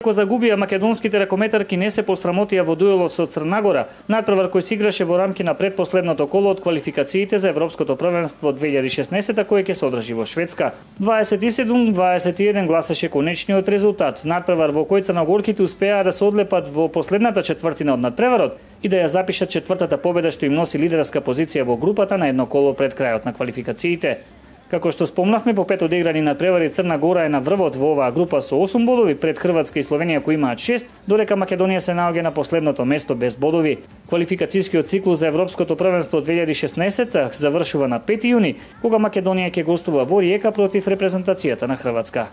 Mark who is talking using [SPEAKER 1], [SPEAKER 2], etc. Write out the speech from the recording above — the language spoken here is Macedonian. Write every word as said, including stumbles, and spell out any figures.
[SPEAKER 1] Ако загубија македонските ракометарки не се посрамотија во дуелот со Црна Гора, надпревар кој се играше во рамки на предпоследното коло од квалификациите за Европското првенство две илјади и шеснаесета кој ќе се одржи во Шведска. дваесет и седум дваесет и еден гласеше конечниот резултат. Надпревар во кој црногорките успеа да се одлепат во последната четвртина од надпреварот и да ја запишат четвртата победа што им носи лидерска позиција во групата на едно коло пред крајот на квалификациите. Како што спомнавме, по пет одиграни надпревари Црна Гора е на врвот во оваа група со осум бодови пред Хрватска и Словенија кои имаат шест, додека Македонија се наоѓа на последното место без бодови. Квалификацијскиот циклус за Европското првенство две илјади и шеснаесета завршува на пети јуни, кога Македонија ќе гостува во Риека против репрезентацијата на Хрватска.